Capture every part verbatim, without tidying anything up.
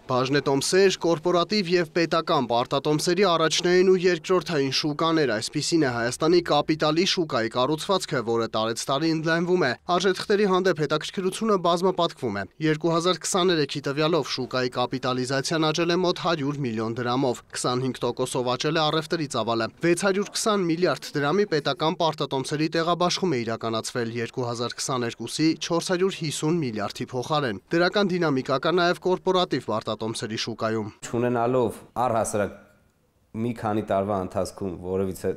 Բաժնետոմսեր, կորպորատիվ և պետական պարտատոմսերի առաջնային ու երկրորդային շուկաներ, այսպիսին է Հայաստանի կապիտալի շուկայի կառուցվածքը, որը տարեցտարի ընդլայնվում է, արժեթղթերի հանդեպ հետաքրքրությունը բազմապատկվում է։ երկու հազար քսաներեքի տվյալով շուկայի կապիտալիզացիան աճել է մոտ հարյուր միլիոն դրամով, քսանհինգ տոկոսով աճել է առևտրի ծավալը, վեց հարյուր քսան միլիարդ դրամի պետական պարտատոմսերի տեղաբաշխում է իրականացվել երկու հազար քսաներկուսի չորս հարյուր հիսուն միլիարդի փոխարեն։ Դրական դինամիկա կա նաև կորպորատիվ պարտատոմսերի շուկայում։ Չունենալով առհասարակ մի քանի տարվա ընթացքում որևիցե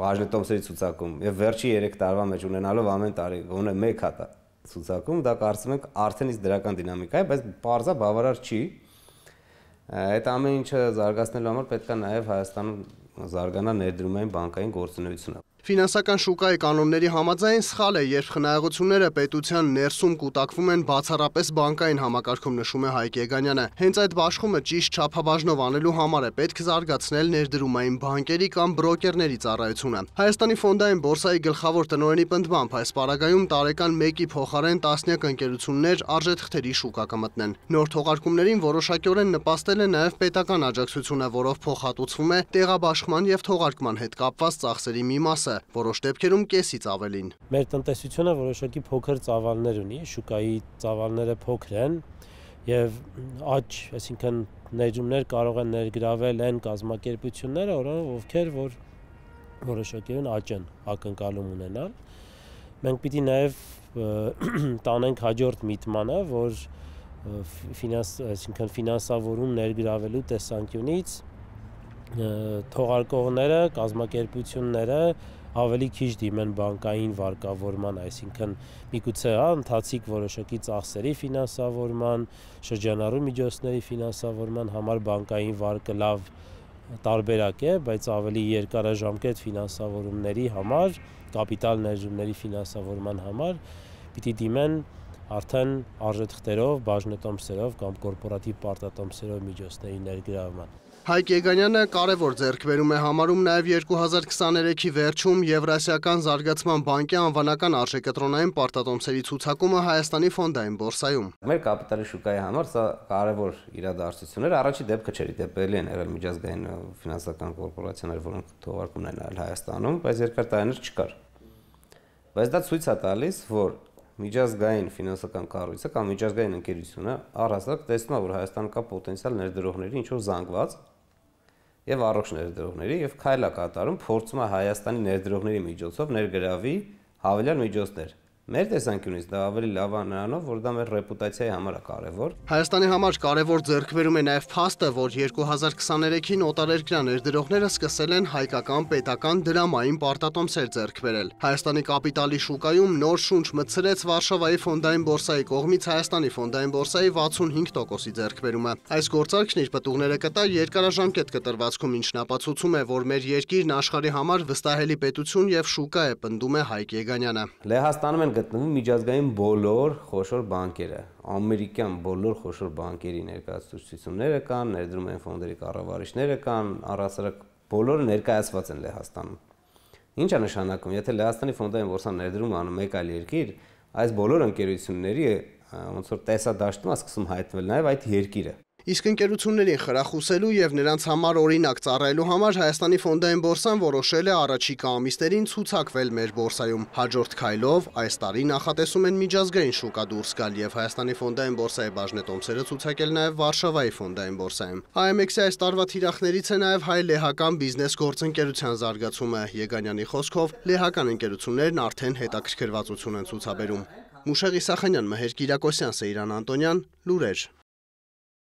բաժնետոմսերի ցուցակում եւ վերջի երեք տարվա մեջ ունենալով ամեն տարի գոնե մեկ հատ ցուցակում, դա կարծում ենք արդեն իսկ դրական դինամիկա է, բայց բարձա բավարար չի։ Այդ ամեն ինչը զարգացնելու համար պետք է նաև Հայաստանում զարգանա ներդրումային բանկային գործունեությունը։ Ֆինանսական շուկայի կանոնների համաձայն սխալ է, երբ խնայողությունները պետության ներսում կուտակվում են բացառապես բանկային համակարգում, նշում է Հայկ Եգանյանը։ Հենց այդ բաշխումը ճիշտ չափաբաժնով անելու համար է պետք զարգացնել ներդրումային բանկերի կամ բրոկերների ծառայությունը։ Հայաստանի ֆոնդային բորսայի գլխավոր տնօրենի պնդմամբ այս պարագայում տարեկան մեկի փոխարեն տասնյակ ընկերություններ արժեթղթերի շուկա կմտնեն։ Նոր թողարկումներին որոշակիորեն նպաստել է նաև պետական աջակցությունը, որով փոխհատուցվում է տեղաբաշխման եւ թողարկման հետ կապված ծախսերի մի մասը, որոշ դեպքերում կեսից ավելին։ Մեր տնտեսությունը որոշակի փոքր ծավալներ ունի, շուկայի ծավալները փոքր են եւ աճ, այսինքն ներդրումներ կարող են ներգրավել այն կազմակերպությունները, ովքեր որ որոշակիորեն աճ են ակնկալում ունենալ։ Մենք պիտի նաեւ տանենք հաջորդ միտմանը, որ ֆինանս, այսինքն ֆինանսավորում ներգրավելու տեսանկյունից թողարկողները, կազմակերպությունները ավելի քիչ դիմեն բանկային վարկավորման, այսինքն միգուցե հա ընթացիկ որոշակի ծախսերի ֆինանսավորման, շրջանառու միջոցների ֆինանսավորման համար բանկային վարկը լավ տարբերակ է, բայց ավելի երկարաժամկետ ֆինանսավորումների համար, կապիտալ ներդրումների ֆինանսավորման համար պիտի դիմեն արդեն արժեթղթերով, բաժնետոմսերով կամ կորպորատիվ պարտատոմսերով միջոցների ներգրավման։ Հայկ Եգանյանը կարևոր ձեռքբերում է համարում նաև երկու հազար քսաներեքի վերջում Եվրասիական զարգացման բանկի անվանական արժեկտրոնային պարտատոմսերի ցուցակումը Հայաստանի ֆոնդային բորսայում։ Մեր կապիտալի շուկայի համար սա կարևոր իրադարձություններ, առաջի դեպքը չէր, դեպքերի են եղել միջազգային ֆինանսական կորպորացիաներ, որոնք թողարկումն են արել Հայաստանում, բայց երկար տարիներ չկար։ Բայց դա ցույց է տալիս, որ միջազգային ֆինանսական կառույցը կամ միջազգային ընկերությունը առհասարակ տեսնում է, որ Հայաստանը կա պոտենցիալ ներդրողների ինչ-որ զանգված եւ առողջ ներդրողների եւ քայլ է կատարում, փորձում է Հայաստանի ներդրողների միջոցով ներգրավի հավելյալ միջոցներ։ Մեր տեսանկյունից դա ավելի լավ է նրանով, որ դա մեր ռեպուտացիայի համար է կարևոր։ Հայաստանի համար կարևոր ձեռքբերում է նաև փաստը, որ երկու հազար քսաներեքին օտարերկրյա ներդրողները սկսել են հայկական պետական դրամային պարտատոմսեր ձեռք բերել։ Հայաստանի կապիտալի շուկայում նոր շունչ մտցրեց Վարշավայի ֆոնդային բորսայի կողմից Հայաստանի ֆոնդային բորսայի վաթսունհինգ տոկոսի ձեռքբերումը։ Այս գործարքն իր պտուղները կտա երկարաժամկետ կտրվածքում, ինչն ապացուցում է, որ մեր երկիրն աշխարհի համար վստահելի պետություն եւ շուկա է, պնդում է Հայկ Եգանյանը։ Լեհաստանում են գտնվում միջազգային բոլոր խոշոր բանկերը, ամերիկյան բոլոր խոշոր բանկերի ներկայացուցիչները կան, ներդրումային ֆոնդերի կառավարիչները կան, առհասարակ բոլորը ներկայացված են Լեհաստանում։ Ինչ է նշանակում, եթե Լեհաստանի ֆոնդային բորսան ներդրում անում մեկ այլ երկիր, այս բոլոր ընկերությունների ոնց որ տեսադաշտում է սկսում հայտնվել նաև այդ երկիրը։ Իսկ ընկերություններին խրախուսելու եւ նրանց համար օրինակ ծառայելու համար Հայաստանի ֆոնդային բորսան որոշել է առաջիկա ամիսներին ցուցակվել մեր բորսայում։ Հաջորդ քայլով այս տարի նախատեսում են միջազգային շուկա դուրս գալ եւ Հայաստանի ֆոնդային բորսայի բաժնետոմսերը ցուցակել նաեւ Վարշավայի ֆոնդային բորսայում։ Այ էմ էքսի այս տարվա թիրախներից է նաեւ հայ-լեհական բիզնես գործընկերության զարգացումը։ Եգանյանի խոսքով լեհական ընկերություններն արդեն հետաքրքրվածություն են ցուցաբերում։ Մուշեղ Իսախանյան, Մհեր Կիրակոսյան, Սեյրան Անտոնյան, լուրեր։